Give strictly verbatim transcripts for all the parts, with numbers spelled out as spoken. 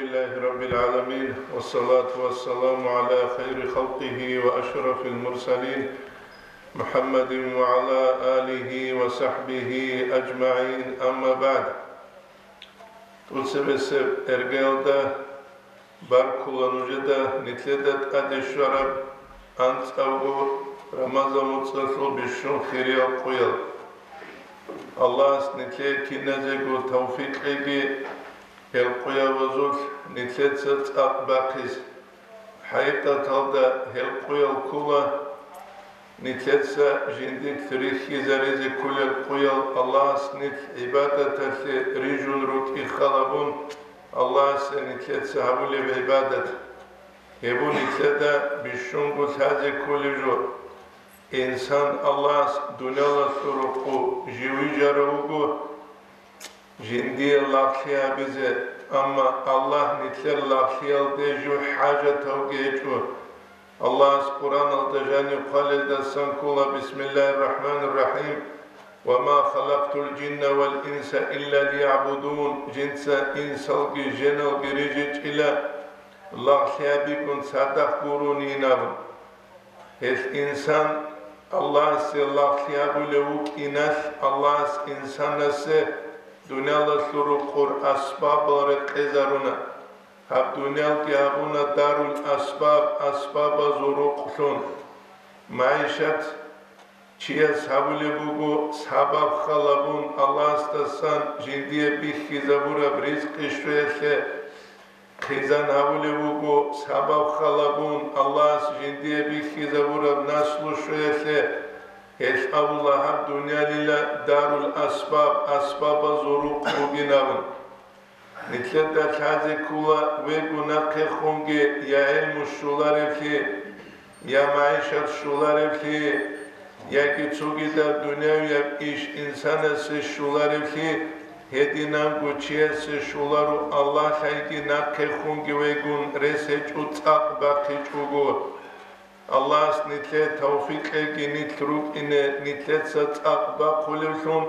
لله رب العالمين، والصلاة والسلام على خير خلقه وأشرف المرسلين، محمد وعلى آله وصحبه أجمعين، أما بعد. ТӀуцебесеб иргаялда баркула нужеда нилъеда тӀаде щвараб анцӀабго Рамазан муцӀалъул бищун хириял къуял. Аллагьас нилъее киназего тавфикъ кьеги, гьел къуябазулъ нилъеца цӀакъ бахъизе. ХӀакъикъаталда гьел къуял ккола нилъеца жиндилъ рихьизаризе кколел къуял, Аллагьас нилъ гӀибадаталъе рижун рукӀин халабун, Аллагьасе нилъеца гьабулеб гӀибадат. Гьеб нилъеда бищунго лъазе кколеб жо. Инсан Аллагьас дуниялалъул рукъу жив вижарав вуго, жиндие лагълъи гьабизе, амма Аллагь нилъер лагълъиялде жив хӀажатавги гьечӀо. Аллагьас Къуръаналда жаниб хъвалелдасан ккола: «Бисмиллагьир рахӀманир рахӀим. Ва ма халакътул жинна вал инса илля лиягӀбудун», жинца инсалги женалги рижичӀила, лагълъи гьабигун цадахъ гуронин абун. Гьелъ инсан Аллагьасе лагълъи гьабулев вукӀиналъ, Аллагьас инсанасе дуниялалъул рукъур асбабал рекъезаруна. Гьаб дуниялги гьабуна дарул асбаб, асбабазул рукълъун. МагӀишат чияс гьабулеб буго сабаб халабун Аллагьасдасан жиндие бихьизабураб ризкъи щвеялъе. Хъизан гьабулеб буго сабаб халабун Аллагьас жиндие бихьизабураб наслу щвеялъе. Гьелъ абула гьаб дуниялила дарул асбаб, асбабазул рукъ бугин абун. Нилъеда лъазе ккола вего нахъехунги я гӀелму щоларевлъи, я магӀишат щоларевлъи, яги цогидаб дуниявияб иш инсанасе щоларевлъи, гьединанго чиясе щоларо Аллагь лъайги нахъехунги вегун рес гьечӀо цӀакъ бахъичӀого. Аллагьас нилъее тавфикъ кьеги нилъ рукӀине нилъеца цӀакъ бахъулевлъун,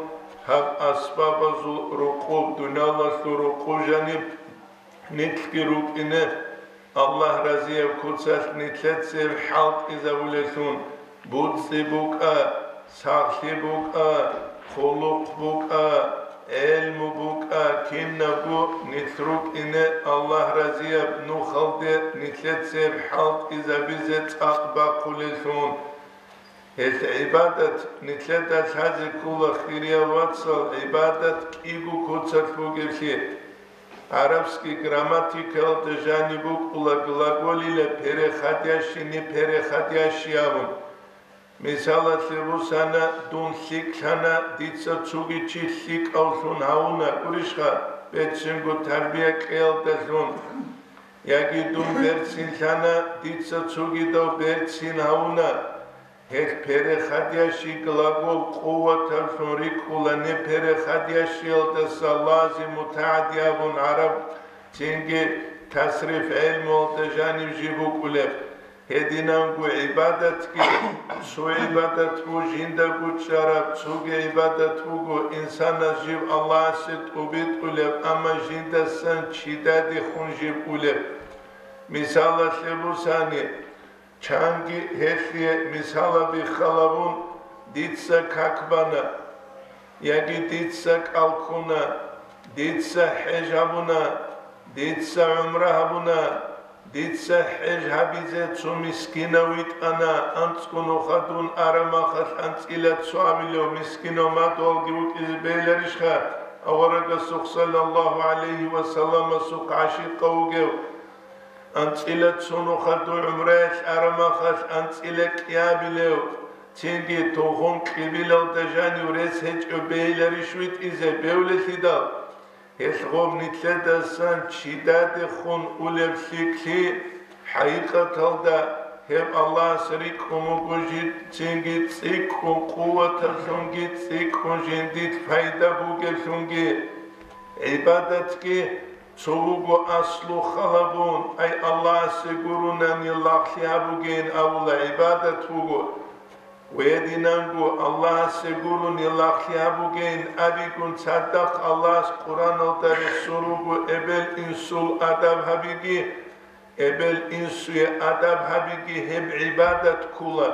гьаб асбабазул рукъуб, дуниялалъул рукъу жаниб нилъги рукӀине, Аллагь разияб куцалъ нилъецеб хӀалтӀизабулеллъун, буцӀцӀи букӀа, сахлъи букӀа, хъулухъ букӀа, гӀелму букӀа, кинабго нилъ рукӀине Аллагь разияб нухалде нилъецеб хӀалтӀизабизе цӀакъ бахъулеллъун. Гьелъ гӀибадат нилъеда лъазе ккола, хириял вацал, гӀибадат кӀиго куцалъ бугеблъи. ГӀарабский грамматикаялда жаниб букӀула глаголила переходящий, непереходящий абун. Мисалалъе бусана, дун лъикӀлъана, дица цоги чи лъикӀавлъун гьавуна, гурищха, берцинго тарбия кьеялдалъун. Яги дун берцинлъана, дица цогидав берцин гьавуна. Гьелъ переходящий глагол къуваталлъун рикӀкӀула, непереходящиялдаса лазим мутагӀадди абун гӀараб, цинги тасриф гӀелмуялда жанив жиб букӀулеб. Гьединанго гӀибадатги, цо гӀибадат бу жиндаго чӀараб, цоги гӀибадат буго инсанас жив Аллагьасе тӀубитӀулеб, амма жиндасан чидадехун жиб улеб. Мисалалъе бусани, чанги гьелъие мисалаби халабун, дица как бана, яги дица кӀал ккуна, дица хӀеж гьабуна, дица гӀумра гьабуна, дица хӀеж гьабизе цо мискинав витӀана, анцӀго нуха дун арамахалъ анцӀила цо абилев мискинав мадугьалги вукӀизе бегьиларищха, аварагасухъ саллаллагьу гӀалайгьи ва салламасухъ гӀашикъав вугев? АнцӀила цо нуха дун гӀумраялъ арамахалъ анцӀила кӀиабилев, цинги тухум кьибилалда жанив рес гьечӀев бегьиларищ витӀизе бевлелъидал? Гьелъ гъоб нилъедасан чидадехун улеб лъикӀлъи, хӀакъикъаталда гьеб Аллагьас рикӀкӀун вуго жи-, цинги цӀикӀкӀун, къуваталлъунги цӀикӀкӀун жиндилъ пайда бугеблъунги. ГӀибадатги цо вуго аслу халабун, ай Аллагьасе гурунани лагълъи гьабугейин абула гӀибадат вуго. Гьединанго Аллагьасе гурони лагълъи гьабугейин абигун цадахъ Аллагьас Къуръаналда рехсун руго эбел-инсул адаб гьабиги, эбел-инсуе адаб гьабиги гьеб гӀибадат ккола.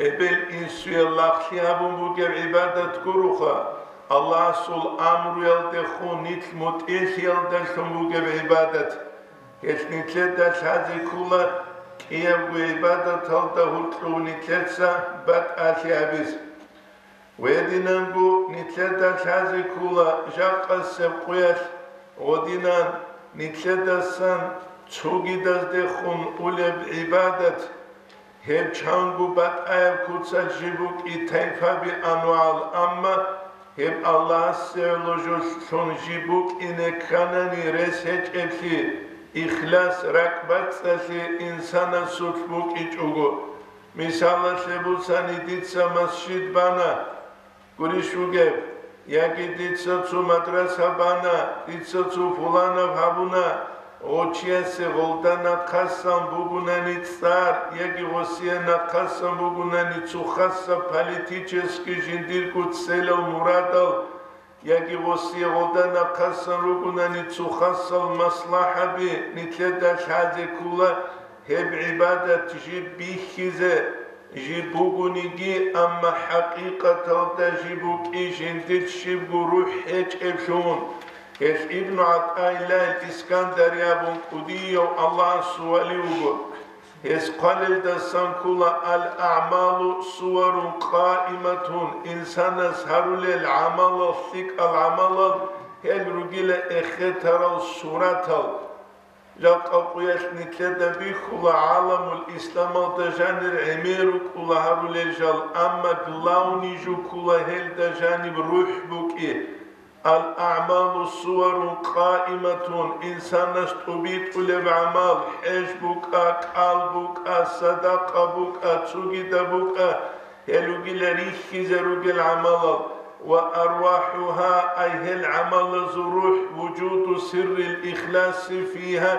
Эбел-инсуе лагълъи гьабун бугеб гӀибадат гуроха, Аллагьасул амруялдехун нилъ мутӀигӀлъиялдалъун бугеб гӀибадат. Гьелъ нилъеда лъазе ккола кӀиябго гӀибадаталда гьоркьоб нилъеца батӀалъи гьабизе. Гьединанго нилъеда лъазе ккола жакъасеб къуялъ гьединан нилъедасан цогидаздехун улеб гӀибадат. Гьеб чанго батӀаяб куцалъ жиб букӀи тайпаби анвагӀал, амма гьеб Аллагьасе гӀоло жолъун жиб букӀине кканани рес гьечӀеблъи, ихлас ракӀбацӀцӀалъи инсанасулъ букӀичӀого. Мисалалъе босани, дица масжид бана, гурищ бугеб, яги дица цо мадраса бана, дица цо пуланаб гьабуна, гъочиясе гъолда нахъасан бугунани цӀар, яги гъосие нахъасан бугунани цо хасаб политический жиндирго целал-мурадал, яги гъосие гъолда нахъасан ругунани цо хасал маслахӀаби, нилъеда лъазе ккола гьеб гӀибадат жиб бихьизе, жиб бугониги, амма хӀакъикъаталда жиб букӀи жиндир щибго рухӀ гьечӀеблъун. Гьелъ Ибну ГӀатӀаиллагьил Искандари абун кӀудияв Аллагьасул вали вуго. Гьес хъвалелдасан ккола: «Ал-аъмалу суварун къаиматун», инсанас гьарулел гӀамалал, лъикӀал гӀамалал, гьел ругила эхетарал суратал. Жакъа къуялъ нилъеда бихьула гӀаламул исламалда жанир гӀемер рукӀула гьарулел жал, амма главный жо ккола гьелда жаниб рухӀ букӀи. Ал-аъмалу суварун къаиматун, инсанас тӀубитӀулеб гӀамал, хӀеж букӀа, кӀал букӀа, садакъа букӀа, цогидаб букӀа, гьел ругила рихьизе ругел гӀамалал, ва арвахӀугьа, ай гьел гӀамалазул рухӀ, вужуду сиррил ихласи фигьа,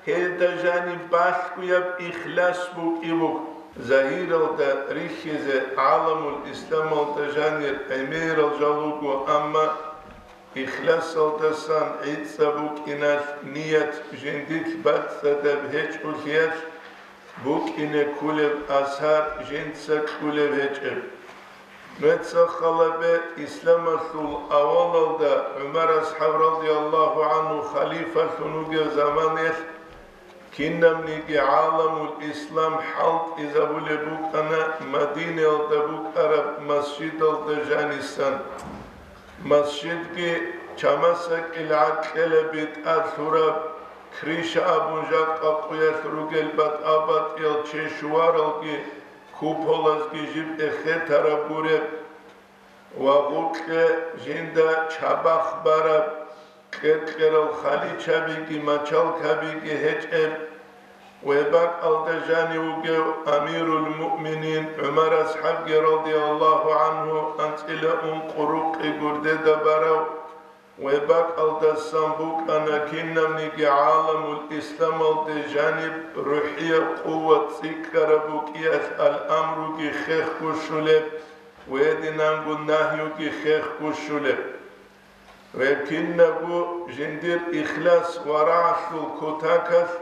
гьелда жаниб балъгояб ихлас букӀи буго. Загьиралда рихьизе гӀаламул исламалда жанир гӀемерал жал руго, амма ихласалдасан гӀицӀаб букӀиналъ ният жиндилъ бацӀцӀадаб гьечӀолъиялъ букӀине кколеб асар жинца кьулеб гьечӀеб. Нужеца хал гьабе, исламалъул авалалда ГӀумар асхӀаб радияллагьу гӀанху халифалъун вугев заманаялъ кинабниги гӀаламул ислам хӀалтӀизабулеб букӀана Мадинаялда букӀараб масжидалда жанисан. Масжидги чамасакӀил гӀакъилаби тӀад лъураб, крыша абун жакъа къуялъ ругел батӀа-батӀиял чешуаралги куполазги жиб эхетараб гуреб ва гъукье жинда чабахъ бараб кьер-кьерал халичабиги мачалкабиги гьечӀеб, ва гьеб бакӀалда жанив вугев амирул муъминин ГӀумар асхӀабги радияллагьу гӀанху анцӀила ункъо рукъи гурдеда барав, ва гьеб бакӀалдасан букӀана кинабниги гӀаламул исламалде жаниб рухӀияб къуват цӀикӀкӀараб букӀиялъ ал-амруги хехго щулеб ва гьединанго нагьюги хехго щулеб. Гьеб кинабго жиндир ихлас ва рагӀалъул кутакалъ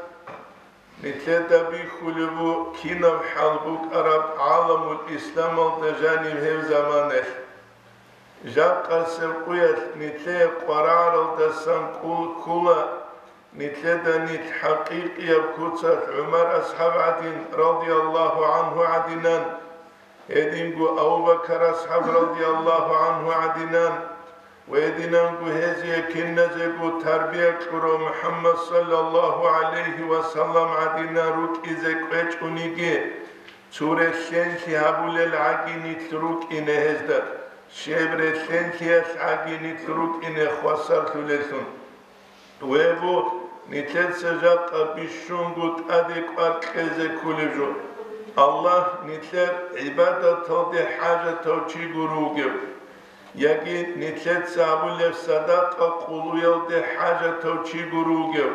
нилъеда бихьулеб бу кинаб хӀал букӀараб гӀаламул исламалда жанив гьев заманалъ. Жакъасеб къуялъ нилъее къварагӀаралдасан кӀул ккула нилъеда нилъ хӀакъикъияб куцалъ ГӀумар асхӀаб гӀадин, радияллагьу гӀанху гӀадинан, гьединго Абу Бакар асхӀаб радияллагьу гӀанху гӀадинан, ва гьединанго гьезие киназего тарбия кьурав МухӀаммад саллаллагьу гӀалайгьи ва саллам гӀадинан рукӀизе кӀвечӀониги, цо релълъенлъи гьабулел гӀаги нилъ рукӀине гьезда, щиб релълъенлъиялъ гӀаги нилъ рукӀине хвасарлъулелъун. Вего, нилъеца жакъа бищунго тӀаде кӀвар кьезе кколеб жо. Аллагь нилъер гӀибадаталде хӀажатав чи гуро вугев, яги нилъеца гьабулеб садакъа къулуялде хӀажатав чи гуро вугев,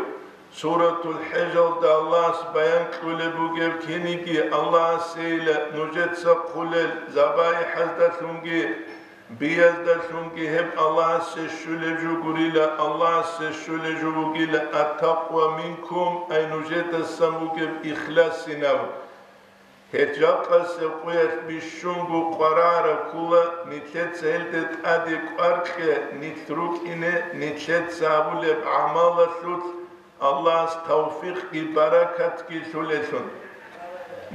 Суратул ХӀежалда Аллагьас баян кьулеб бугеб киниги Аллагьасейила нужеца хъулел забаихӀаздалъунги бияздалъунги гьеб Аллагьасе щулеб жо гурила, Аллагьасе щулеб жо бугила, аттакъва минкум, ай нужедасан бугеб ихласинав. Гьел жакъасеб къуялъ бищунго къварагӀараб ккула, нилъеца гьелде тӀаде кӀвар кье, нилъ рукӀине, нилъеца гьабулеб гӀамалалъулъ Аллагьас тавфикъги баракатги лъулелъун.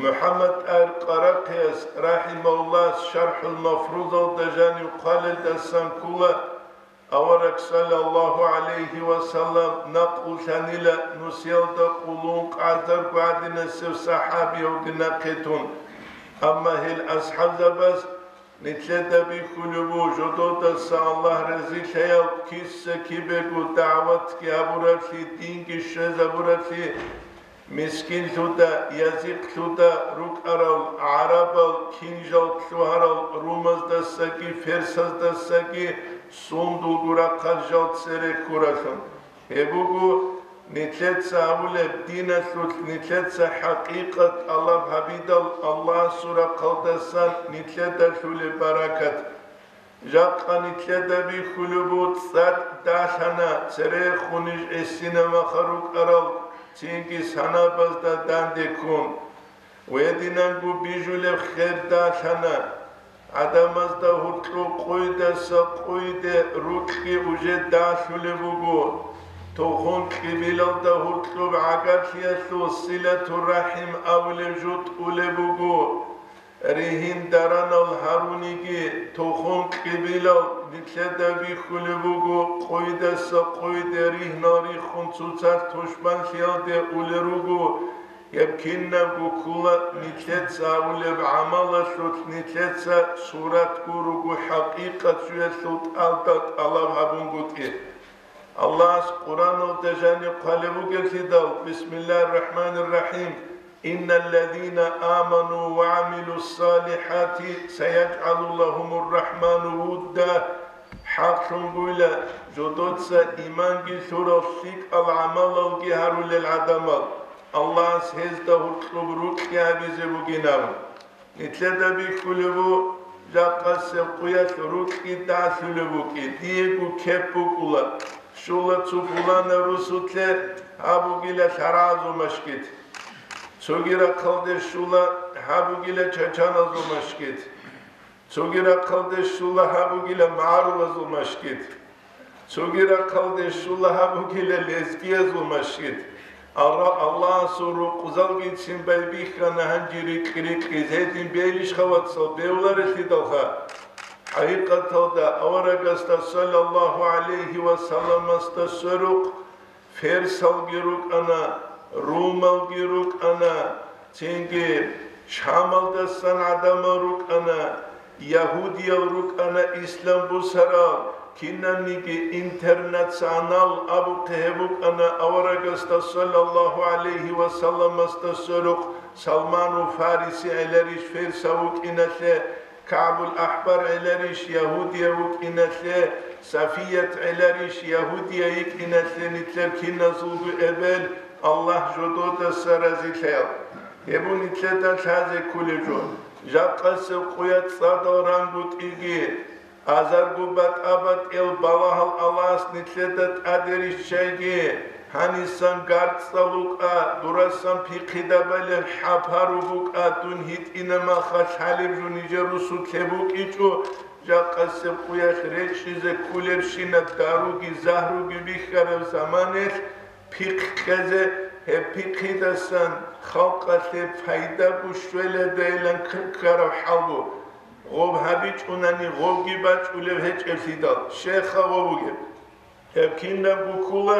МухӀаммад ТӀагьир Къарахъияс, рахӀимагьуллагь, ШархӀул Мафрузалда жанив хъвалелдасан ккула, Авараг, саллаллагьу гӀалайгьи ва саллам, накълулъанила нусиялда къулун къазарго гӀадинасев сахӀабиявги нахъе тун. Амма гьел асхӀабзабаз нилъеда бихьулеб буго, жододаса Аллагь разилъаял киса-кибего дагӀватги гьабураблъи, динги щвезабураблъи, мискинлъуда, язихълъуда рукӀарал гӀарабал, кинжал лъугьарал румаздасаги ферсаздасаги сундулго рахъал жал цере ккуралъун. Гьеб буго нилъеца гьабулеб диналъулъ нилъеца хӀакъикъат тӀалаб гьабидал Аллагьасул рахъалдасан нилъеда лъулеб баракат. Жакъа нилъеда бихьулеб буго, цӀакъ далъана, церехун ниж гӀисинабаха рукӀарал, цинги санабазда данде ккун. Гьединанго бижулеб хер далъана. ГӀадамазда гьоркьоб къойдаса къойде рукьги уже далъулеб буго. Тухум кьибилалда гьоркьоб гӀагарлъиялъул силатур-рахӀим абулеб жо тӀулеб буго. Ригьин даранал гьаруниги, тухум кьибилал нилъеда бихьулеб буго, къойдаса къойде ригьнал риххун цоцалъ тушманлъиялде улел руго, гьеб кинабго ккула нилъеца гьабулеб гӀамалалъулъ нилъеца сурат гуруго хӀакъикъат жоялъул тӀалда тӀалаб гьабунгутӀи. Аллагьас Къуръаналда жаниб хъвалеб бугеблъидал, Бисмиллагьир-рахӀманир-рахӀим, «Инналлазина аману ва гӀамилуссалихӀати сайажгӀалу лагьумур-рахӀману вудда», хӀакълъунгуйла, жодоца иманги лъурал лъикӀал гӀамалалги гьарулел гӀадамал, Аллагьас гьезда гьоркьоб рукьи гьабизе бугин абун. Нилъеда бихьулеб буго, жакъасеб къуялъ рукьи далъулеб букӀин, диего кеп букӀула, щула цо пуланаб русулъе гьаб бугила лъарагӀазул машгит. Цоги рахъалде щула гьаб бугила чачаназул машгит. Цоги рахъалде щула гьаб бугила магӀарулазул машгит. Цоги рахъалде щула гьаб бугила лезгиязул машгит. Алла-, Аллагьасул рукъзалгицин байбихьана гьанже рикь-рикьизе гьедин бегьилищха, вацал, бегьуларелъидалха. ХӀакъикъаталда аварагасда, саллаллагьу гӀалайгьи ва салламасда, сверухъ ферсалги рукӀана, румалги рукӀана, цинги Шамалдасан гӀадамал рукӀана, ягьудиял рукӀана ислам бусарал, кинабниги интернационал абухъе гьеб букӀана аварагасда, саллаллагьу гӀалайгьи ва салламасда, сверухъ Салманул Фариси гӀеларищ ферсав вукӀиналъе, КагӀбул АхӀбар гӀеларищ ягьудияв вукӀиналъе, Сафият гӀеларищ ягьудия йикӀиналъе, нилъер киназулго эбел, Аллагь жододаса разилъаял. Гьеб нилъеда лъазе кколеб жо. Жакъасеб къуя цӀадал рангутӀиги, азарго батӀа-батӀиял балагьал Аллагьас нилъеда тӀаде риччайги, гьанисан гарцӀал рукӀа, дурасан пихъидабалеб хӀапару букӀа, дун гьитӀинаб маха лъалеб жо нижер русулъе букӀичӀо, жакъасеб къуялъ речӀчӀизе кколебщинаб даруги загьруги бихьараб заманаялъ пихъ кьезе, гьеб пихъидасан халкъалъе пайда бушвеладайилан ккараб хӀал бу. Гъоб гьабичӀунани гъобги бачӀулев гьечӀеблъидал, щайха гъоб бугеб? Гьеб кинабго ккола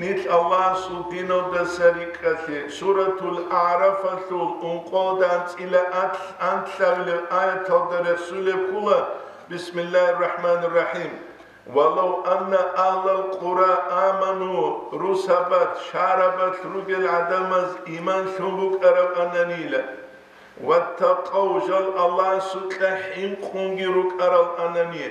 нилъ Аллагьасул диналдаса рикӀкӀалъе. Суратул АгӀрафалъул ункъоялда анцӀила анлъабилеб аяталда рехсулеб ккола, Бисмиллагьир рахӀманир рахӀим. «Валав анна агьлал къура аману», русабат, шагьарабат ругел гӀадамаз иман лъун букӀарабананила, «ваттакъав», жал Аллагьасукьа хӀинкъунги рукӀараланани,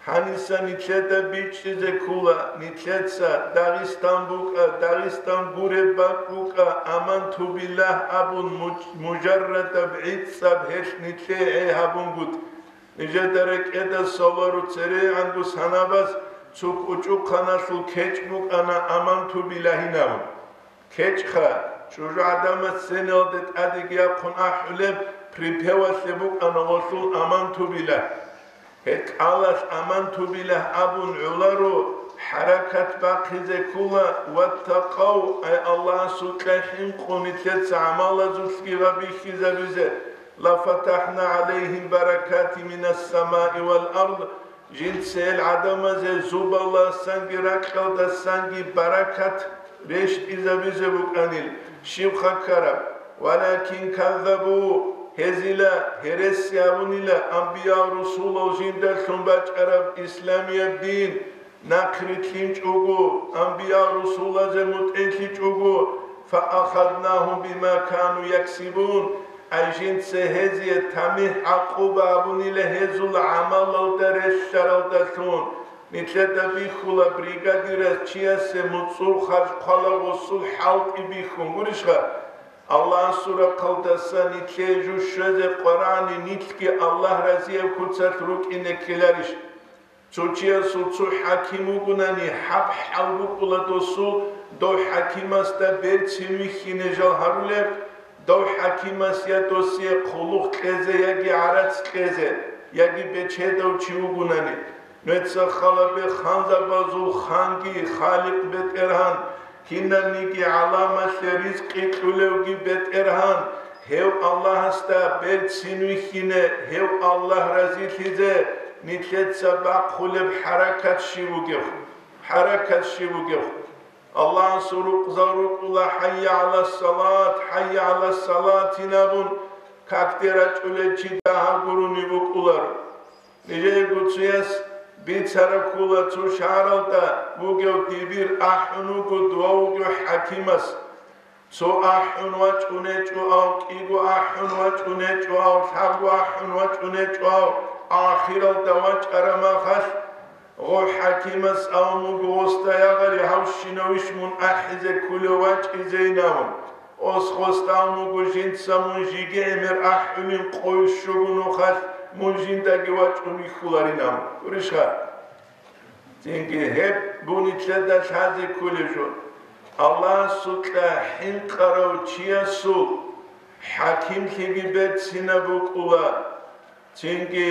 Гьаниса нилъеда бичӀчӀизе ккола, нилъеца Дагъистан букӀа, Дагъистан гуреб бакӀ букӀа, аманту биллагь абун муж-, мужаррадаб гӀицӀаб гьелъ нилъее гӀей гьабунгутӀ. Нижеда рекӀеда салару церегӀанго санабаз цо кӀучӀухъаналъул кечӀ букӀана аманту биллагьин абун. КечӀха, чӀужугӀадаба цценалде тӀадеги яхъун ахӀулеб припевалъе букӀана гъолъул аманту биллагь. Гьеб кӀалалъ аманту биллагь абун гӀоларо, хӀаракат бахъизе ккола, ваттакъав, ай Аллагьасукьа хӀинкъун нилъеца гӀамалазулъги ва бихьизабизе, лафатахӀна гӀалайгьим баракатин минас самаи вал ард, жинца гьел гӀадамазе зубалдасанги ракьалдасанги баракат рещтӀизабизе букӀанил, щибха ккараб? Валакин каззабу, гьезила гьереси гьабунила анбиял-русулал жиндалъун бачӀараб исламияб дин нахърилълъинчӀого, анбиял-русулазе мутӀигӀлъичӀого, фаахаднагьум бима кану яксибун, ай жинца гьезие тамихӀ-гӀакъуба гьабунила гьезул гӀамалалда релълъаралдалъун. Нилъеда бихьула бригадирас чиясе муцӀул харж хъвала гъосул хӀалтӀи бихьун, гурищха? Аллагьасул рахъалдаса нилъее жо щвезе къварани, нилъги Аллагь разияб куцалъ рукӀине ккеларищ? Цо чиясул цо хӀаким вугунани, гьаб хӀал букӀула досул, дов хӀакимасда берцин вихьине жал гьарулеб, дов хӀакимас я досие хъулухъ кьезе, яги гӀарац кьезе, яги бечедав чи вугунани. Нуца халабе ханзабазул ханги, Халикъ БетӀергьан, кинабниги гӀаламалъе ризкъи кьулевги БетӀергьан, гьев Аллагьасда берцин вихьине, гьев Аллагь разилъизе нилъеца бахъулеб хӀаракат щиб бугеб? ХӀаракат щиб бугеб? Аллагьасул рукъзал рукӀула, хӀайя гӀалас салат, хӀайя гӀалас салатин абун, какде рачӀулел чи дагьаб гурони букӀуларо. Нижеего цояс бицараб ккола, цо шагьаралда вугев дибир ахӀун вуго, дова вугев хӀакимас. Цо ахӀун вачӀунечӀо ав, кӀиго ахӀун вачӀунечӀо ав, лъабго ахӀун вачӀунечӀо ав, ахиралда вачӀараб махалъ, гъо хӀакимас абун буго, гъосда, ягъари, гьавщинавищ мун ахӀизе кколев вачӀизейин абун. Ос гъосда абун буго, жинца мун жеги гӀемер ахӀулин къойщуго нухалъ, мун жиндаги вачӀун вихьуларин абун. Гурищха? Цинги гьеб бу нилъеда лъазе кколеб жо. Аллагьасукьа хӀинкъарав чиясул хӀакимлъиги берцинаб букӀула, цинги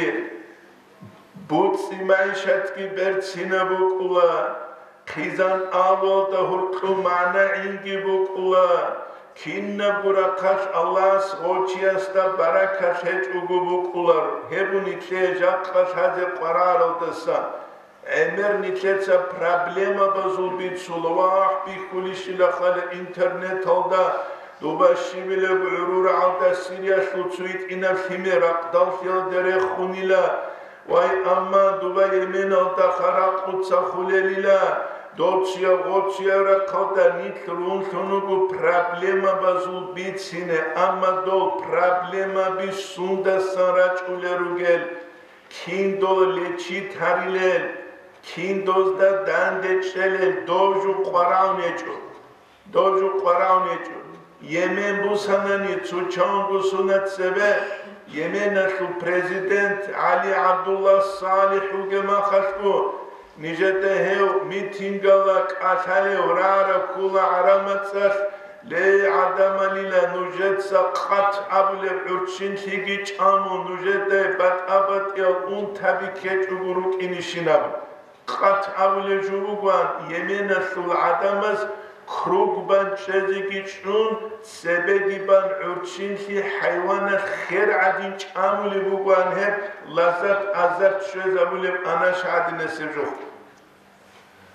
буцӀи-майшатги берцинаб букӀула, хъизан авалда гьуркьу магӀна гӀинги букӀула, кинабго рахъалъ Аллагьас гъочиясда баракат гьечӀого букӀулар, гьеб бу нилъее жакъа лъазе къвараралдаса. ГӀемер нилъеца проблемабазул бицула ва ахӀ бихьулищила хала интернеталда, дуба щибилеб гӀурургӀалда Сириялъул цу гьитӀинаб лъимер ракъдалъиялде рехунила. Вай, амма дуба Йеменалда харакъуца хулелила, доцуя-гъоцуя рахъалда нилъ рунлъун руго проблемабазул бицине, амма дол проблемаби сундасан рачӀулел ругел? Кин дол лечит гьарилел, кин дозда данде чӀелел, дов жо къварагӀун гьечӀо. Дов жо къварагӀун гьечӀо. Йемен бусанани цо чанго сунат цебе, Йеменалъул президент ГӀали ГӀабдулла СалихӀ вугеб махалъго, нижеда гьев митингала кӀалъалев рагӀараб ккола гӀараб мацӀалъ, Ле, гӀадамалила, нужеца къат абулеб гӀурччинлъиги чӀамун, нужедай батӀа-батӀиял унтаби ккечӀого рукӀинищинаб. Къат абулеб жо бугоан, Йеменалъул гӀадамаз круг бан чӀезеги чӀун, цебеги бан гӀурччинлъи хӀайванал хер гӀадин чӀамулеб бугоан гьеб лаззат-азарт щвезабулеб анаша гӀадинасеб жо.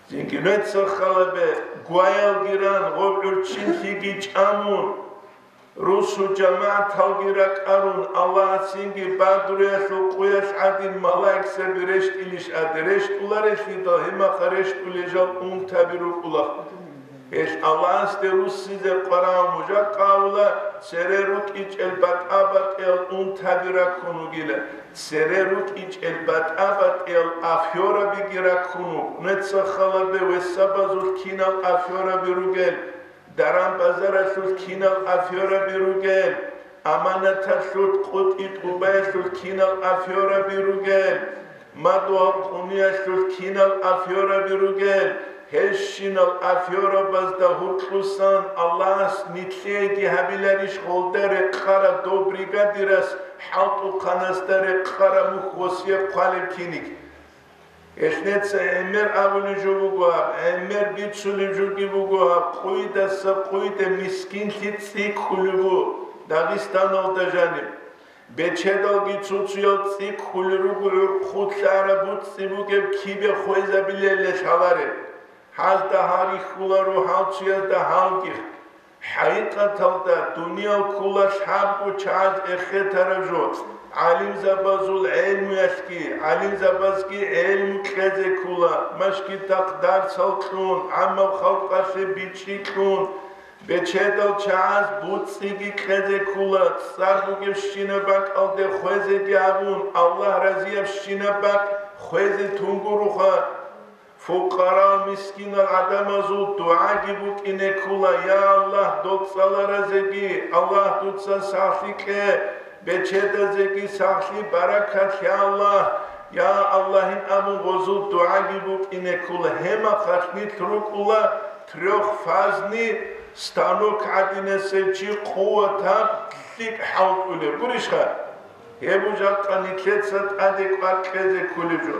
Цинги нуца халабе гваялги ран, гъоб гӀурччинлъиги чӀамун, русу жамагӀаталги ракӀарун, Аллагьасинги Бадруялъул къуялъ гӀадин малаикзаби рещтӀилищ гӀаде, рещтӀуларелъидал гьемаха рещтӀулел жал унтаби рукӀула. Гьелъ Аллагьасде руссизе къварав мужахъ абула, цере рукӀичӀел батӀа-батӀиял унтаби раккун вугила, цере рукӀичӀел батӀа-батӀиял афёрабиги раккун вуго. Нуца халабе весабазул кинал афёраби ругел, даран-базаралъул кинал афёраби ругел, аманаталъул къутӀи-тӀубаялъул кинал афёраби ругел, мадугьал къуниялъул кинал афёраби ругел, гьелщинал афёрабазда гьуркьусан Аллагьас нилъееги гьабиларищ гъолда рекъараб дов бригадирас хӀалтӀухъанасда рекъараб мухь восият хъвалеб киниг? Гьелъ неца гӀемер абулеб жо буго гьаб, гӀемер бицулеб жоги буго гьаб, къуйдаса къуйде мискинлъи цӀикӀкӀулеб бу Дагъистаналда жаниб. Бечедалги цо-цоял цӀикӀкӀулел руго гӀурхъулъ араб буцӀцӀи бугеб кибе хвезабилелде лъалареб. Гьазда гьал рихьуларо, гьал цоязда гьалги. ХӀакъикъаталда, дуниял ккола лъабго чагӀаз эхетараб жо, гӀалимзабазул гӀелмуялъги, гӀалимзабазги гӀелму кьезе ккола, машгитахъ дарсал кьун, гӀаммаб халкъалъе бичӀчӀи кьун, бечедал чагӀаз буцӀцӀиги кьезе ккола, цӀар бугебщинаб бакӀалде хвезеги гьабун, Аллагь разиябщинаб бакӀ хвезе тунгуруха. Фукъарал-мискинал гӀадамазул дугӀаги букӀине ккола: «Я Аллагь, дол цӀаларазеги, Аллагь, дуца сахлъи кье, бечедазеги сахлъи, баракат, я Аллагь, я Аллагьин», – абун гъозул дугӀаги букӀине ккола. Гьемахъалъ нилъ рукӀула трёхфазный станок гӀадинасев чи, къуватаб лъикӀ хӀалтӀулев. Гурищха? Гьеб жакъа нилъеца тӀаде кӀвар кьезе кколеб жо.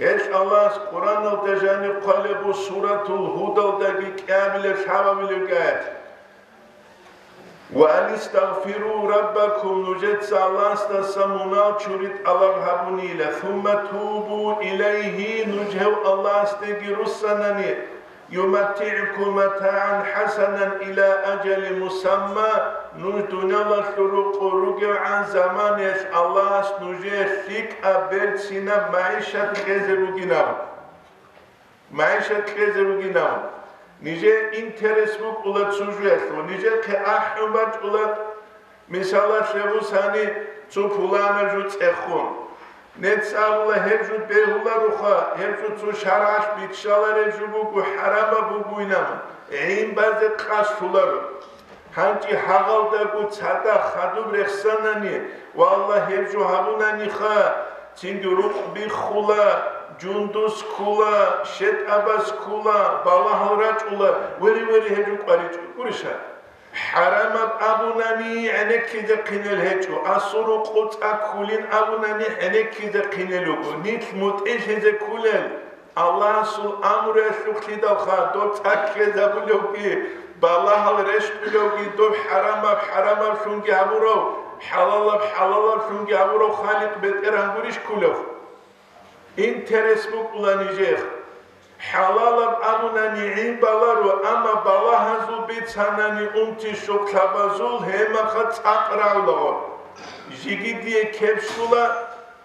Гьелъ Аллагьас Къуръаналда жаниб хъвалеб буго, Суратул Гьудалдаги кӀиабилеб лъабабилеб аят: «Ва анистагъфиру раббакум», нужеца Аллагьасдаса мунагь чури тӀалаб гьабунила, «сумма тубу илайгьи», нуж гьев Аллагьасдеги руссанани, «юматтигӀкум матагӀан хӀасанан иля ажали мусамма», нуж дуниялалъул рукъу ругевгӀан заманаялъ Аллагьас нужее лъикӀаб берцинаб магӀишат кьезе бугинаб. МагӀишат кьезе бугинаб. Нижее интерес букӀула цо жоялъул, нижехъе ахӀун бачӀула. Мисалалъе бусани, цо пуланаб жо цӀехун. Нецц абула, гьеб жо бегьулароха, гьеб жо цо шаргӀалъ биччалареб жо буго, хӀарамаб бугойилан, гӀин базе къасд лъоларо. ГьанкӀи гьагъалдаго цадахъ хадуб рехсанани, валлагь, гьеб жо гьабунаниха, цинги рукъ биххула, жундуз ккула, щетӀабаз ккула, балагьал рачӀула, вери-вери гьеб жо кӀваричӀо. Гуриша? ХӀарамаб абунани гӀенеккизе хъинел гьечӀо, асул рукъу цӀа ккулин абунани гӀенеккизе хъинел руго, нилъ мутӀигӀлъизе ккулел Аллагьасул амруялъухълъидалха, доб цӀа ккезабулевги, балагьал рещтӀулевги, доб хӀарамаб хӀарамаблъунги гьабурав, хӀалалаб хӀалалаблъунги гьабурав Халикъ БетӀергьан гурищ ккулев? Интерес букӀула нижехъ. ХӀалалаб абунани гӀин баларо, амма балагьазул бицанани унти-щуклъабазул гьемаха цӀакъ рагӀулаго. Жиги дие кебщула,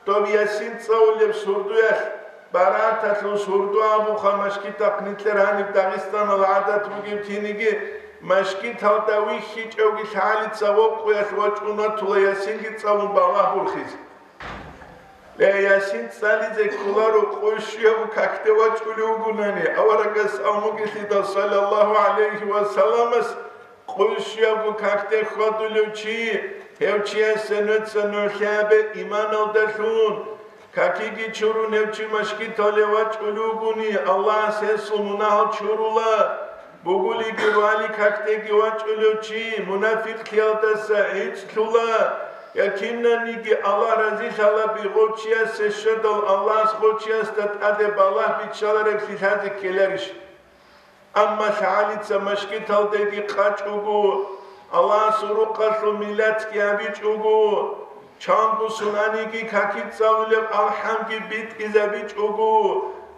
доб Ясин цӀалулеб сурдуялъ, Барааталъул сурду абуха, машгитахъ нилъер гьаниб Дагъистаналда гӀадат бугеб киниги, машгиталда вихьичӀевги лъалица вокъуялъ вачӀун ватула Ясинги цӀалун балагь бурхизе. Ле, Ясин цӀализе кколаро къуй щуяб какде вачӀулев вугунани, аварагас амугелъидал, саллаллагьу гӀалайгьи ва салламас, къуй щуябго какде хьвадулев чи, гьев чиясе нуца нугӀлъи гьабе иманалдалъун, какиги чурун гьев чи машгиталде вачӀулев вугони, Аллагьас гьесул мунагьал чурула. Бугулиги вали какдеги вачӀулев чи мунафикълъиялдаса гӀицӀлъула, я кинаниги Аллагь разилъала бигъов чиясе щведал Аллагьас гъов чиясда тӀаде балагь биччалареблъи лъазе ккеларищ? Амма лъагӀалица машгиталдеги къачӀого, Аллагьасул рукъалъул миллатги гьабичӀого, чанго сунаниги какицӀалулеб алхӀамги битӀизабичӀого,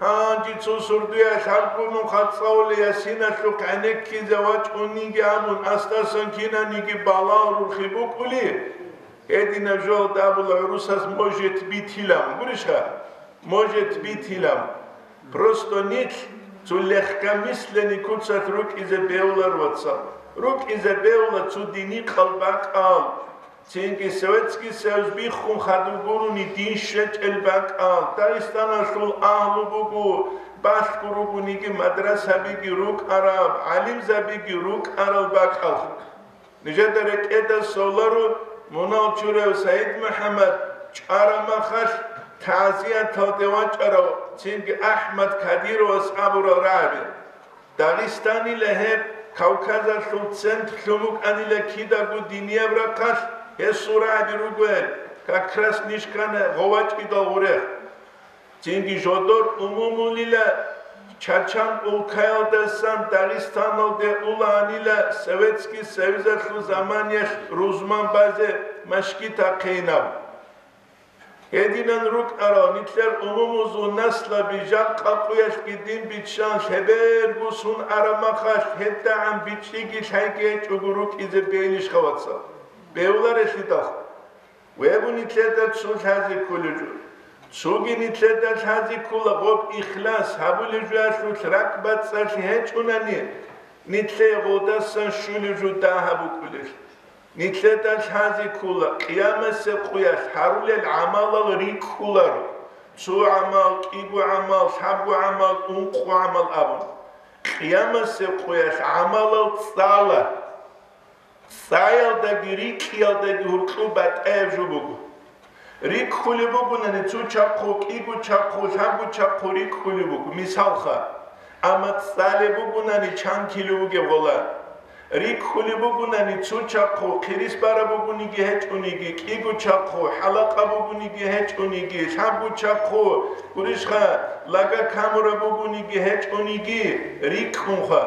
гьанже цо сурдуя лъабгун нуха цӀалула Ясиналъухъ гӀенеккизе вачӀунниги абун, асдасан кинаниги балагь рурхи букӀули, гьединаб жоялда абула гӀурусаз может битилан, гурищха? Может битилан. Просто нилъ Цо легкомысленный куцалъ рукӀизе бегьулар, вацал. РукӀизе бегьула цо динихъал бакӀал. Цинги Советский Союз биххун хадуб гурони дин щвечӀел бакӀал. Дагъистаналъул агьлу буго, балъго ругониги мадрасабиги рукӀараб, гӀалимзабиги рукӀарал бакӀал. Нижеда рекӀеда соларо мунал чурав СагӀид МухӀаммад чӀвараб махалъ, тагӀзияталде вачӀарав цинги АхӀмад Кадировас абурал рагӀаби. Дагъистанила гьеб, Кавказалъул центрлъун букӀанила кидаго динияб рахъалъ, гьесул рагӀаби ругел, как раз ниж ккана ГъовачӀидал гъурех. Цинги жодор умумулила, Чачан улкаялдасан Дагъистаналде уланила Советский Союзалъул заманиялъ рузман базе машгит ахъейнав. Гьединан рукӀарал нилъер умумузул наслаби жакъа къуялъги дин биччан лъеберго сун араб махалъ гьедагӀан бичӀчӀиги лъайги гьечӀого рукӀизе бегьилищха, вацал? Бегьуларелъидал. Веб нилъеда цо лъазе кколеб жо. Цоги нилъеда лъазе ккола гъоб ихлас гьабулеб жоялъулъ ракӀбацӀцӀалъи гьечӀунани, нилъее гъодасан щулеб жо дагьаб букӀулелъ. Нилъеда лъазе ккола, къиямасеб къуялъ гьарулел гӀамалал рикӀкӀуларо, цо гӀамал, кӀиго гӀамал, лъабго гӀамал, ункъо гӀамал абун. Къиямасеб къуялъ гӀамалал цӀала. ЦӀаялдаги рикӀкӀиялдаги гьуркьуб батӀаяб жо буго. РикӀкӀулеб бугунани цо чахъу, кӀиго чахъу, лъабго чахъу рикӀкӀулеб буго, мисалха. Амма цӀалеб бугунани чан кило бугеб гъола. РикӀкӀулеб бугунани цо чахъу, хъирис бараб бугониги гьечӀониги, кӀиго чахъу, хӀалакъа бугониги гьечӀониги, лъабго чахъу, гурищха, лага камураб бугониги гьечӀониги, рикӀкӀунха.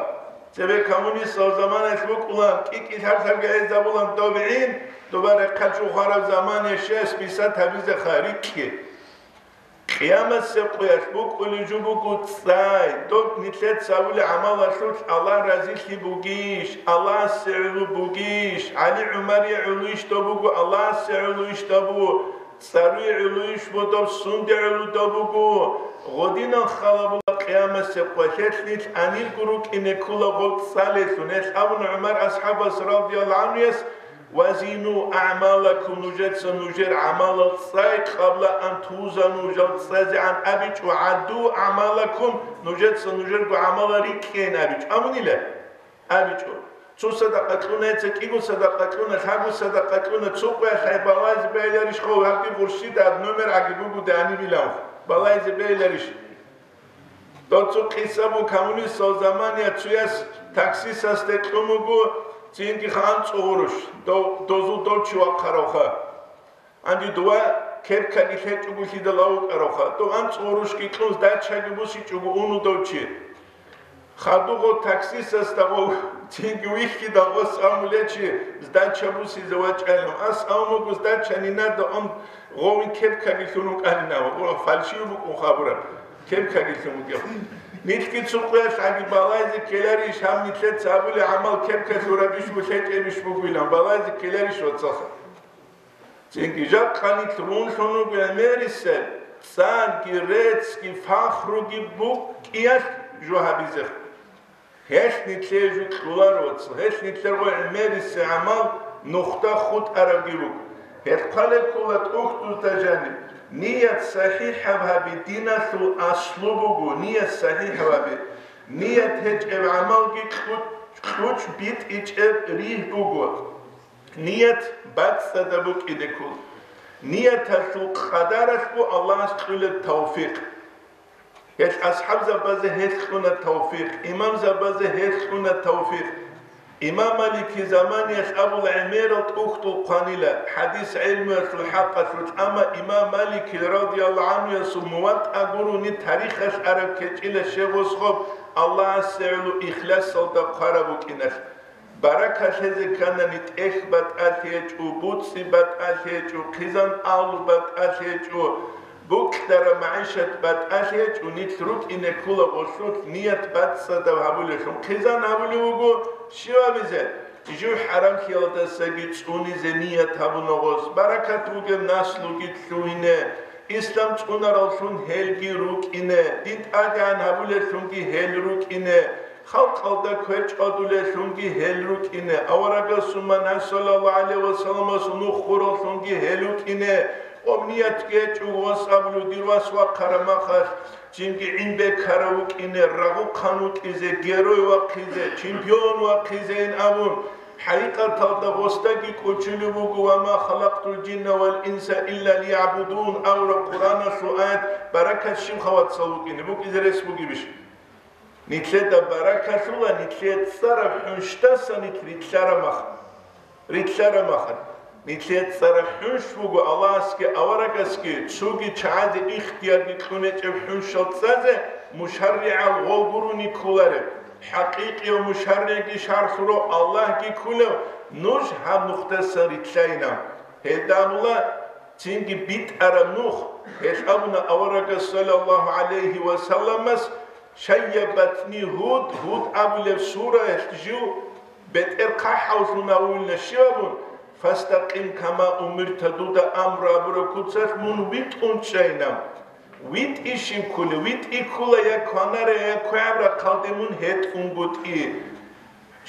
Цебе коммунистал заманаялъ букӀулан, кӀи-кӀи лъаб-лъабги гӀезабулан дов гӀин, доба рехъалъ хвараб замана щес бисат гьабизеха, рикӀкӀи. Къиямасеб къуялъ букӀулеб жо буго цӀай, доб нилъеца гьабулеб гӀамалалъулъ Аллагь разилъи бугищ, Аллагьасе гӀоло бугищ, ГӀали-ГӀумарие гӀолойищ доб буго, Аллагьасе гӀолойищ доб буго, цӀаруе гӀолойищ доб, сунде гӀоло доб буго, гъодинал халабула къиямасеб къуялъ нилъ гьанирго рукӀине ккола гъоб цӀалелъун. Гьелъ абуна ГӀумар асхӀабас радияллагьу гӀанхуяс: «Вазину аъмалакум», нужеца нужер гӀамалал цӀай, «къабла ан тузану», жал цӀазегӀан абичӀо, «гӀадду аъмалакум», нужеца нужерго гӀамалал рикӀкӀейин абичӀо. Абунила? АбичӀо. Цо садакъа кьуна, гьеца кӀиго садакъа кьуна, лъабго садакъа кьуна, цо къуялъ гьай балайзе бегьиларищ хъо, гьабги гъурщида гьаб номер гӀаги бугода гьанибилан. Балайзе бегьиларищ? Дов цо къиса буго, коммунистал заманаялъ цояс таксистасде кьун буго, цинги анцӀго гъурущ, дов, дозул дов чи вахъаравха. Гьанже дова кепкаги лъечӀого лъидал вукӀаравха, дов анцӀго гъурущги кьун, сдачаги бусичӀого уну дов чи. Хадуго таксистасда гъов, цинги вихьидал гъос амулев чи сдача бусизе вачӀайилан. Ас амуго сдача нинада он гъовин кепкаги лъун вукӀанинав, фальшив букӀун хабураб, кепкаги лъун вугев. Нилъги цо къуялъ гьаги балайзе ккеларищ, гьаб нилъеца гьабулеб гӀамал кепка лъурабищ, лъечӀебищ бугилан, балайзе ккеларищ, вацалха? Цинги жакъа нилъ рунлъун руго гӀемерисел, цӀарги, реццги, фахруги букӀиялъ жо гьабизе. Гьелъ нилъее жо кьоларо, гьелъ нилъер гъой гӀемерисел гӀамал нухда хутӀарабги руго. Гьелъ хъвалеб ккола тӀухьдузда жаниб: ният сахӀихӀаб гьаби диналъул аслу буго, ният сахӀихӀаб гьаби. Ният гьечӀеб гӀамалги кьучӀ-, кьучӀ битӀичӀеб ригь буго. Ният бацӀцӀадаб букӀине ккола. Нияталъул къадаралъго Аллагьас кьула тавфикъ. Гьелъ асхӀабзабазе гьелъ кьуна тавфикъ, имамзабазе гьелъ кьуна тавфикъ. Имам Малики заманиялъ абула гӀемерал тӀухьдул хъванила, хӀадис гӀелмуялъул хӀакъалъулъ, амма имам Малики радияллагьу гӀанхуясул МуватӀа гурони тарихалъ араб кечӀила щегъосхоб Аллагьасе гӀоло ихласалда хъвараб букӀиналъ. Баракат лъезе кканани, тӀехь батӀалъи гьечӀо, буцӀцӀи батӀалъи гьечӀо, хъизан-агьлу батӀалъи гьечӀо, букьараб магӀишат батӀалъи гьечӀо, нилъ рукӀине ккола гъолъулъ ният бацӀцӀадаб гьабулевлъун. Хъизан гьабулев вуго щив абизе? Жив хӀарамлъиялдасаги цӀунизе ният гьабуна гъос, баракат бугеб наслуги лъугьине, Ислам цӀунараллъун гьелги рукӀине, дин тӀадегӀан гьабулеллъунги гьел рукӀине, халкъалда квер чӀвадулеллъунги гьел рукӀине, аварагасул ман гьай саллаллагьу гӀалайгьи ва салламасул нух хураллъунги гьел рукӀине, гъоб ниятги гьечӀого вас абулев дир вас вахъараб махалъ, жинги гӀин бекарав вукӀине, рагъухъан вукӀизе, герой вахъизе, чемпион вахъизейин абун, хӀакъикъаталда гъосдаги кӀочулеб буго: «Ва ма халакътул жинна вал инса илля лиягӀбудун» абураб Къуръаналъул аят баракат щибха, вацал, вукӀине букӀизе рес бугебищ? Нилъеда баракалъула нилъее цӀараб хӀунщдаса нилъ рилълъараб махалъ. Рилълъараб махалъ, нилъее цӀараб хӀунщ буго Аллагьасги аварагасги цоги чагӀазе ихтиярги кьун гьечӀеб хӀунщал цӀазе мушарригӀал гъол гурони кколареб. ХӀакъикъияв мушарригӀги шаргӀлъурав Аллагьги кколев нуж гьаб нухдасан рилълъайина. Гьелда абула, цинги битӀараб нух, гьелъ абуна аварагас саллаллагьу гӀалайгьи ва салламас: «Шайябатни Гьуд», Гьуд абулеб сураялъ жив бетӀер хъахӀавлъун гьавулна щиб абун, «Фастакъим кама умирта», дуда амру гьабураб куцалъ мун витӀун чӀайна. ВитӀи щиб кколев? ВитӀи ккола я кванаре, я квегӀаб рахъалде мун гьетӀунгутӀи.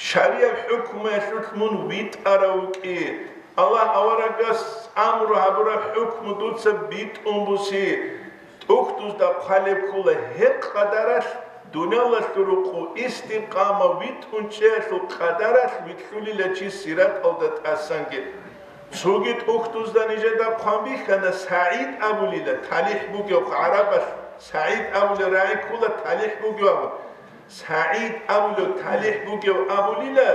Шарияб хӀукмуялъулъ мун витӀарав вукӀи. Аллагь аварагас амру гьабураб хӀукму дуца битӀун буси. ТӀухьдузда хъвалеб ккола гьеб къадаралъ, дуниялалъул рукъу истикъама витӀун чӀеялъул къадаралъ вилълъулила чи сираталда тӀасанги. Цоги тӀухьдузда нижеда хъван бихьана, СагӀид абулила, талихӀ бугев гӀарабалъ, СагӀид абулев рагӀи ккола, талихӀ бугев абун. СагӀид абулев талихӀ бугев абулила,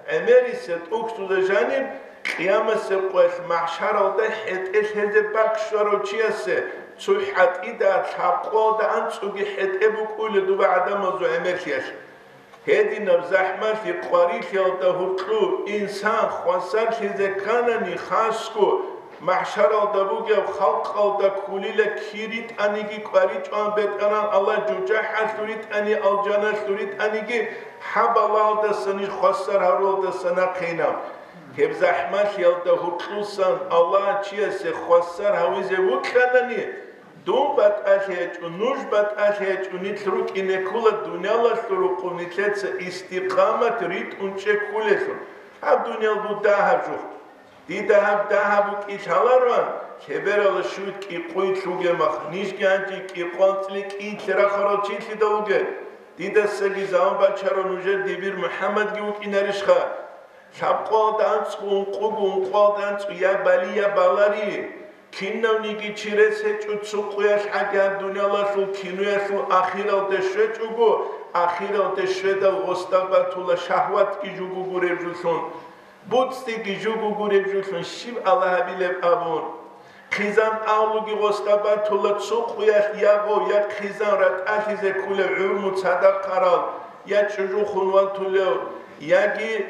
гӀемерисел тӀухьдузда жаниб, къиямасеб къоялъ махӀшаралда хӀетӀе лъезе бакӀ щварав чиясе цо хӀатӀида лъабкъоялда анцӀуги хӀетӀе букӀула доба гӀадамазул гӀемерлъиялъ. Гьединаб захӀмалъи къварилъиялда гьоркьоб инсан хвасарлъизе кканани, хасго махӀшаралда бугеб халкъалда кколила кир ритӀаниги кӀваричӀоан бетӀеран Аллагь, жужахӀалъур ритӀани, алжаналъур ритӀаниги, хӀабалалдаса ниж хвасар гьарулалдаса нахъейна. Гьеб захӀмалъиялда гьоркьусан Аллагь чиясе хвасар гьавизе вукьанани, дун батӀалъи гьечӀо, нуж батӀалъи гьечӀо, нилъ рукӀине ккола дуниялалъул рукъу нилъеца истикъамат ритӀун чӀеккулелъул. Гьаб дуниял бу дагьаб жух. Дида гьаб дагьаб букӀи лъалароан, лъеберала щуй кӀикъуй лъугеб мах, нижги гьанже кӀикъван цӀли кӀийлъи рахарал чилъидал вугел. Дидасаги заман бачарав нужер дибир МухӀаммадги вукӀинарищха? Лъабкъоялда анцӀго ункъуго, ункъоялда анцӀго я бали, я балари. Кинавниги чи рес гьечӀо цо къуялъ гӀаги гьаб дуниялалъул киноялъул ахиралде щвечӀого, ахиралде щведал гъосда батула шагьватги жуго гуреб жолъун. БуцӀцӀиги жуго гуреб жолъун щиб Аллагь гьабилеб абун. Хъизан авлуги гъосда батула цо къуялъ я гъов, я хъизан ратӀалъизе кколев гӀурму цадахъ арал, я чӀужу хун ватулев, яги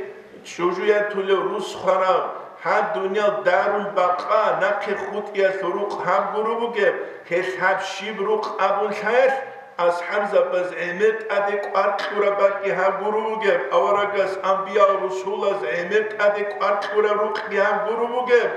чӀужу ятулев рус хварав, гьаб дуниял дарул бакъа, нахъе хутӀиялъул рукъ гьаб гуро бугеб, гьелъ гьаб щиб рукъ абун лъаялъ, асхӀабзабаз гӀемер тӀаде кӀвар кьураб бакӀги гьаб гуро бугеб, аварагас, амбиял, русулаз гӀемер тӀаде кӀвар кьураб рукъги гьаб гуро бугеб,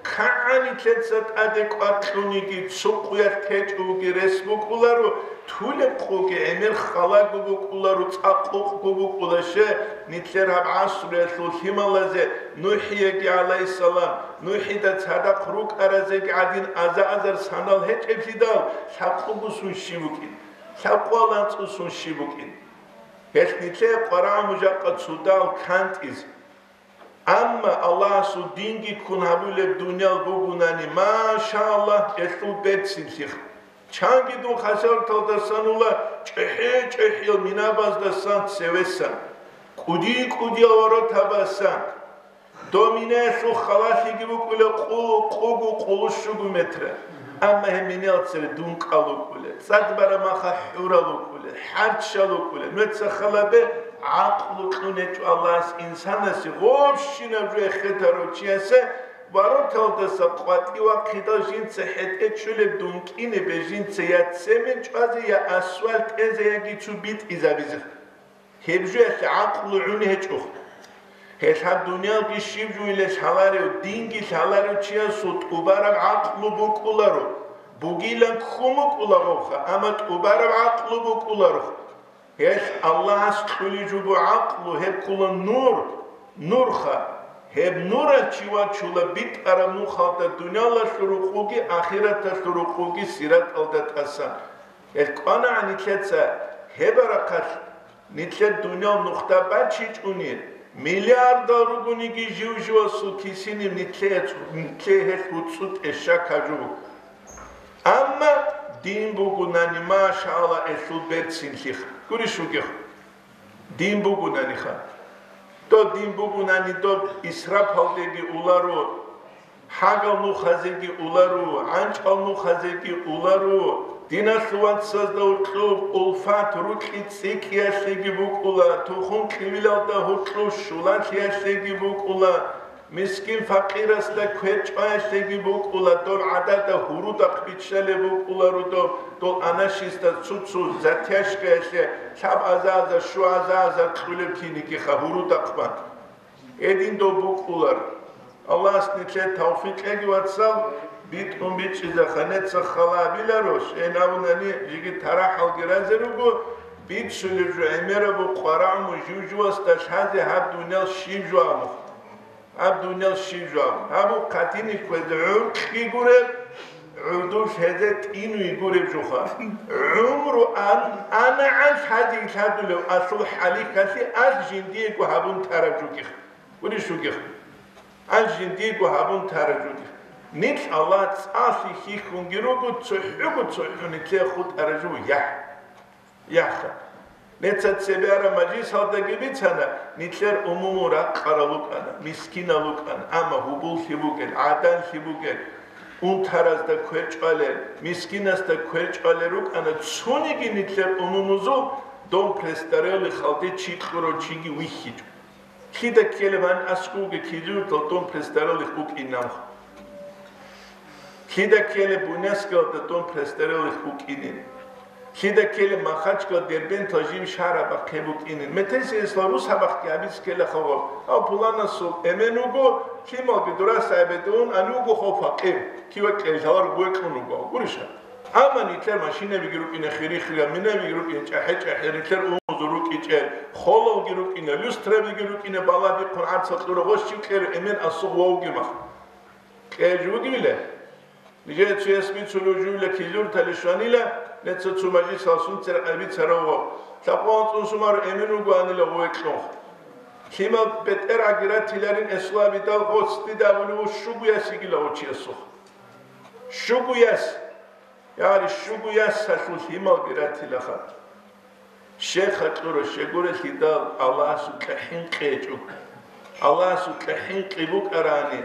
кагӀанилъеца тӀаде кӀвар кьуниги, цо къуялъ течӀоги рес букӀуларо, тулеб къуги гӀемер халаго букӀуларо, цӀакъ къукъго букӀула, ще, нилъер гьаб гӀасруялъул лъималазе, НухӀиеги гӀалайгьиссалам, НухӀида цадахъ рукӀаразеги гӀадин аза-азар санал гьечӀеблъидал, лъабкъого сун щиб букӀин? Лъабкъоялда анцӀго сун щиб букӀин? Гьелъ нилъее къварагӀа мужахъа цодал кантӀизе. Амма Аллагьасул динги ккун гьабулеб дуниял бугунани, машаллагь, гьелъул берцинлъиха. Чанги дун хасарталдасан ула, чӀехӀе-чӀехӀиял минабаздасан цевесан, кӀуди-кӀудиял воротабасан. Дов минаялъул халалъиги букӀула къу-, къугу къулущугу метра. Амма гьеб минаялъ цере дункъал вукӀула, цӀад бараб маха хӀурал вукӀула, хӀарччал вукӀула. Нуца халабе гӀакълу кьун гьечӀо Аллагьас инсанасе, гъобщинаб жо эхетарав чиясе вороталдаса къватӀив вахъидал жинца хӀетӀе чӀулеб дункӀине бе жинца я цемент чӀвазе, я асфальт тӀезе, яги цу битӀизабизе. Гьеб жоялъе гӀакълу гӀун гьечӀо. Гьелъ гьаб дуниялги щиб жойилан лъаларев, динги лъаларев чиясул тӀубараб гӀакълу букӀуларо. бугилан ккун букӀулагъовха, амма тӀубараб гӀакълу букӀуларухъ. Гьелъ Аллагьас кьулеб жо буго гӀакълу, гьеб ккола нур, нурха. Гьеб нуралъ чи вачула битӀараб нухалда, дуниялалъул рукъуги ахираталъул рукъуги сираталда тӀасан. Гьелъ кӀванагӀан нилъеца гьеб рахъалъ, нилъер дуниял нухда бачичӀони, миллиардал ругониги жив-живасул кисиниб нилъее, нилъее гьелъ гьуцӀцӀу тӀещак гьаб жо буго. Амма дин бугунани, машаалла, гьелъул берцинлъиха. Гурищ вугехъ? Дин бугунаниха. Доб дин бугунани, доб исрафалдеги уларо, хӀагал нухазеги уларо, гӀанчӀал нухазеги уларо, диналъул вацазда гьоркьоб улфат, рукьи цӀикӀкӀиялъеги букӀула, тухум кьивилалда гьоркьоб щулалъиялъеги букӀула, мискин-факъирасда квер чӀваялъеги букӀула, доб гӀадада гьурудахъ биччалеб букӀуларо доб, дол анашистас цо-цо затяжкаялъе лъабазаза, щуазаза кьулеб кинигиха гьурудахъ бан. Гьедин доб букӀулар. Аллагьас нилъее тавфикъ кьеги, вацал, битӀун бичӀчӀизеха, неца хал гьабиларо, щайин абунани, жеги тарахӀалги разе руго, бицунеб жо гӀемераб къварагӀму жив-живасда лъазе гьаб дуниял щиб жо абун. Гьаб дуниял щиб жо абун. Гьаб къатине кквезе гӀуркьги гуреб, гӀодов лъезе тӀинги гуреб жоха. ГӀумру ан-, анагӀан лъазе лъадулев алъул хӀалихьалъи алъ жиндиего гьабун тараб жугих. Гурищ вугих? Алъ жиндиего гьабун тараб жугих. Нилъ Аллагь цӀалъи хьихьунги руго, цохӀого цохӀо нилъее хутӀараб жо яхӀ. Яха. Неца цебе араб мажлисалдаги бицана, нилъер умумул ракъарал рукӀана, мискинал рукӀана, амма гьубуллъи бугел, гӀаданлъи бугел, унтаразда квер чӀвалел, мискинасда квер чӀвалел рукӀана, цониги нилъер умумузул дом престарелых халде чи кьурав чиги вихьичӀо. Лъида ккелеб гьаниб аскӀовги кизуртал дом престарелых букӀинав? Лъида ккелеб Буйнакскиялда дом престарелых букӀинин? Лъида ккелеб Махачкала, Дербентал жив шагьараб бахъе букӀинин? Метерсиясла рус гьабахъги гьабиз ккела хаваб. Гьав пуланасул эмен вуго, лъималги дураса гьабедун, ани вуго хав факъир, киве кьел лъалар гъветлъун вуго, гурищ гьаб? Амма нилъер машинабиги рукӀине хири-хириял, минабиги рукӀине чӀахӀи-чӀахӀи, нилъер умузул рукӀичӀел, холалги рукӀине, люстрабиги рукӀине, баладихъун гӀарцал кьура гъощив кьера эмен асугъ вавги мах. Кье жугивила? Нижее цояс бицулев жугила кизуртали щванила, неца цо мажлисалъун церекъай бицарав вав. Лъабкъоялда цӀун сумар эмен вугоанила гъовекьун. Лъимал бетӀергьаги ратиларин эсулабидал гъоц дида абулев щугу яс йигила гъов чиясухъ. Щугу яс. Яри щугу ясалъул лъималги ратилаха. Щеха кьура, щегурелъидал Аллагьасукьа хӀинкъи гьечӀо. Аллагьасукьа хӀинкъи букӀарани,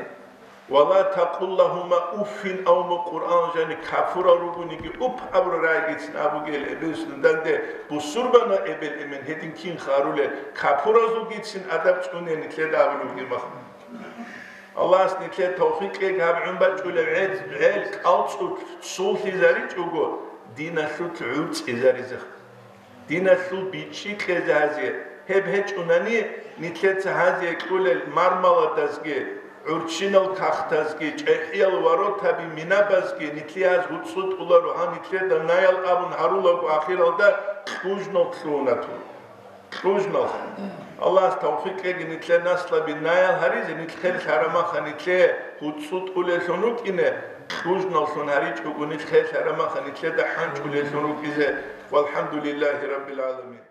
«Ва ла такъул лагьума уффин», авма Къуръан жани капурал ругониги уп абурал рагӀигицин абугел эбел данде бусурбана эбел эмен гьедин кин харулел капуразулгицин адаб цӀуне нилъеда абулебги махмуд. Аллагьас нилъее тавфикъ кьеги гьаб гӀун бачӀулеб гӀел, гӀел кӀалцӀулъ цуллъизаричӀого, диналъулъ гӀурцӀизаризе. Диналъул бичӀчӀи кьезе гьазие. Гьеб гьечӀунани, нилъеца гьазие кьулел мармаладазги, гӀурччинал кагътазги, чӀехӀиял воротаби, минабазги нилъее гьаз гьуцӀцӀу тӀуларо, гьав нилъеда наял абун гьарулаго ахиралда кьужнал лъугьунатун. Кьужнал. Аллагьас тавфикъ кьеги нилъер наслаби наял гьаризе, нилъ херлъарамаха нилъее гьуцӀцӀу тӀулеллъун рукӀине, кьужналлъун гьаричӀого нилъ херлъарамаха нилъеда хӀанчӀулеллъун рукӀизе. Валхамдулиллагьи раббил гӀаламин.